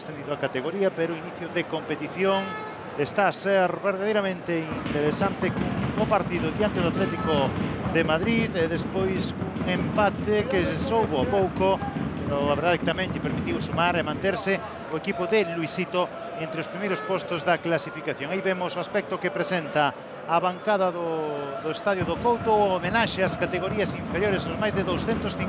ascendido a categoría, pero inicio de competición. Está a ser verdadeiramente interesante cun partido diante do Atlético de Madrid e despois cun empate que soubo pouco, pero a verdade que tamén lle permitiu sumar e manterse o equipo de Luisito entre os primeiros postos da clasificación. Aí vemos o aspecto que presenta a bancada do Estadio do Couto, o homenaxe ás categorías inferiores, os máis de 250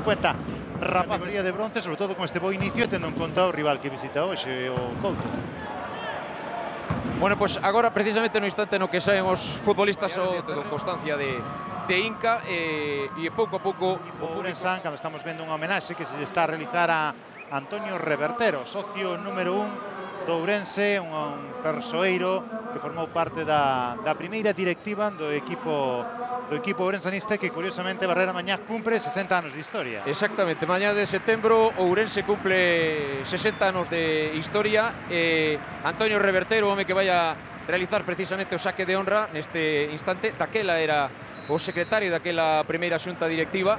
rapaces de bronce, sobre todo con este bo inicio, tendo en conta o rival que visita hoxe, o Couto. Bueno, pues agora precisamente no instante no que saen os futbolistas con constancia de Inca e pouco a pouco o Ourense, cando estamos vendo unha homenaxe que se está a realizar a Antonio Revertero, socio número 1 do Ourense, un persoeiro que formou parte da primeira directiva do equipo ourensanista, que curiosamente Barrera mañá cumpre 60 anos de historia. Exactamente, mañá de setembro o Ourense cumple 60 anos de historia e Antonio Revertero, o home que vai a realizar precisamente o saque de honra neste instante, daquela era o secretario daquela primeira xunta directiva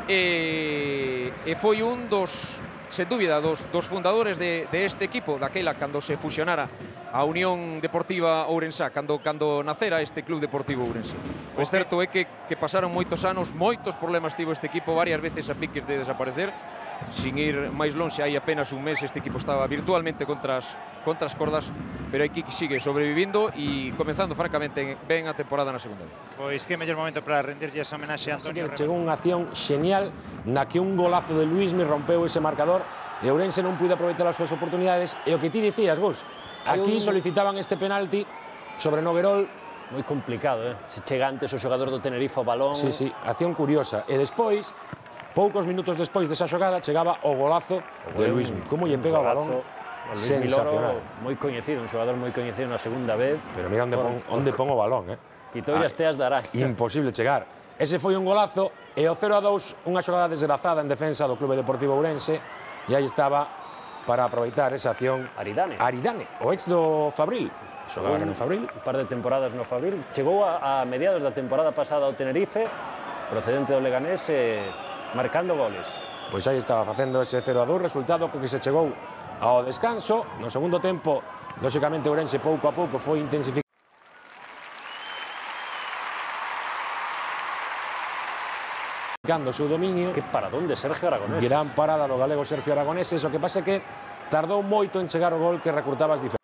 e foi un dos, sen dúbida, dos fundadores de este equipo, daquela cando se fusionara a Unión Deportiva Ourensá, cando nacera este Club Deportivo Ourense. O certo é que pasaron moitos anos, moitos problemas tivo este equipo, varias veces a piques de desaparecer. Sin ir máis lonxe, hai apenas un mes este equipo estaba virtualmente contra as cordas, pero aquí sigue sobrevivindo e comenzando francamente ben a temporada na segunda liga. Pois que mellor momento para rendirlle esa homenaxe a Antonio Revertero. Chegou unha acción xenial na que un golazo de Luismi rompeu ese marcador e Ourense non puido aproveitar as súas oportunidades, e o que ti dicías, Gus, aquí solicitaban este penalti sobre Noguerol. Moi complicado, se chega antes o xogador do Tenerife o balón. Sí, acción curiosa. E despois, poucos minutos despois desa xogada, chegaba o golazo de Luismi. Como lle pega o balón, sensacional. Moi coñecido, un xogador moi coñecido na segunda vez. Pero mira onde pon o balón, Quitoulle as teas de Araña. Imposible chegar. Ese foi un golazo, e o 0-2, unha xogada desgrazada en defensa do Clube Deportivo Ourense, e aí estaba para aproveitar esa acción Aridane, o ex do Fabril. Xogaba no Fabril. Un par de temporadas no Fabril. Chegou a mediados da temporada pasada ao Tenerife, procedente do Leganés, marcando goles. Pois aí estaba facendo ese 0-2, resultado co que se chegou ao descanso. No segundo tempo, lóxicamente, Ourense pouco a pouco foi intensificando o seu dominio. Que paradón de Sergio Aragonés. Gran parada do galego Sergio Aragonés. O que pasa é que tardou moito en chegar o gol que recurtaba as diferencias.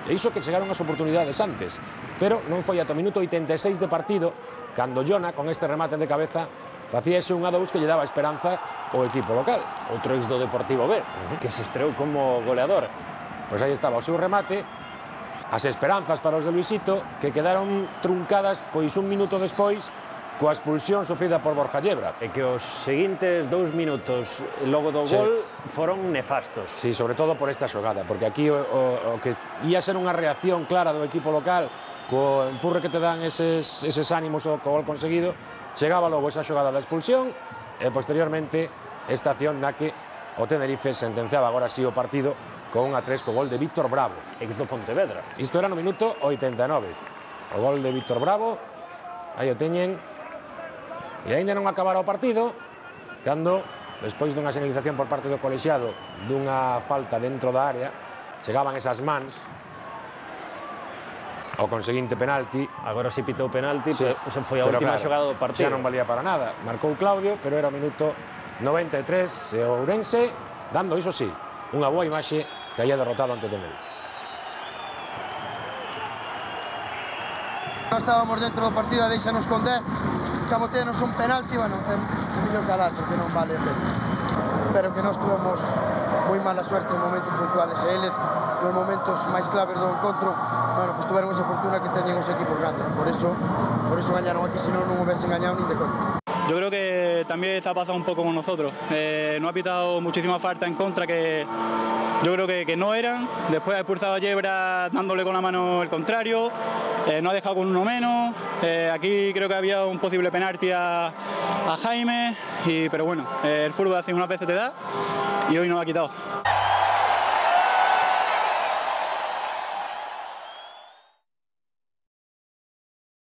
E iso que chegaron as oportunidades antes, pero non foi ata o minuto 86 de partido cando Jona, con este remate de cabeza, facía ese 1-2 que lle daba esperanza ao equipo local. Outro ex do Deportivo B, que se estreou como goleador. Pois aí estaba o seu remate, as esperanzas para os de Luisito, que quedaron truncadas pois un minuto despois coa expulsión sofrida por Borja Llebra. E que os seguintes 2 minutos logo do gol foron nefastos. Sí, sobre todo por esta xogada, porque aquí o que ia ser unha reacción clara do equipo local, co empurre que te dan eses ánimos co gol conseguido, chegaba logo esa xogada da expulsión e posteriormente esta acción na que o Tenerife sentenciaba agora sí o partido con 1-3 co gol de Víctor Bravo, ex do Pontevedra. Isto era no minuto 89. O gol de Víctor Bravo, aí o teñen. E aínda non acabara o partido cando, despois dunha señalización por parte do colexiado dunha falta dentro da área, chegaban esas mans ao conseguinte penalti. Agora si pitou penalti, pero foi a última xogada do partido. Xa non valía para nada. Marcou Claudio, pero era o minuto 93 e o Ourense dando, iso sí, unha boa imaxe que había derrotado ante o Tenerife. Estábamos dentro do partido, deixanos con 10. Camoteanos un penalti, bueno, é mellor calar, porque non vale a pena. Pero que nós tuvemos moi mala suerte en momentos puntuales, e eles, nos momentos máis claves do encontro, bueno, pues tuveron esa fortuna que teñen os equipos grandes, por eso gañaron aquí, senón non hubiesen gañado nin de coña. Yo creo que también ha pasado un poco con nosotros. No ha pitado muchísima falta en contra que yo creo que no eran. Después ha expulsado a Yebra dándole con la mano el contrario. No ha dejado con uno menos. Aquí creo que había un posible penalti a Jaime. Pero bueno, el fútbol hace unas veces te da y hoy nos ha quitado.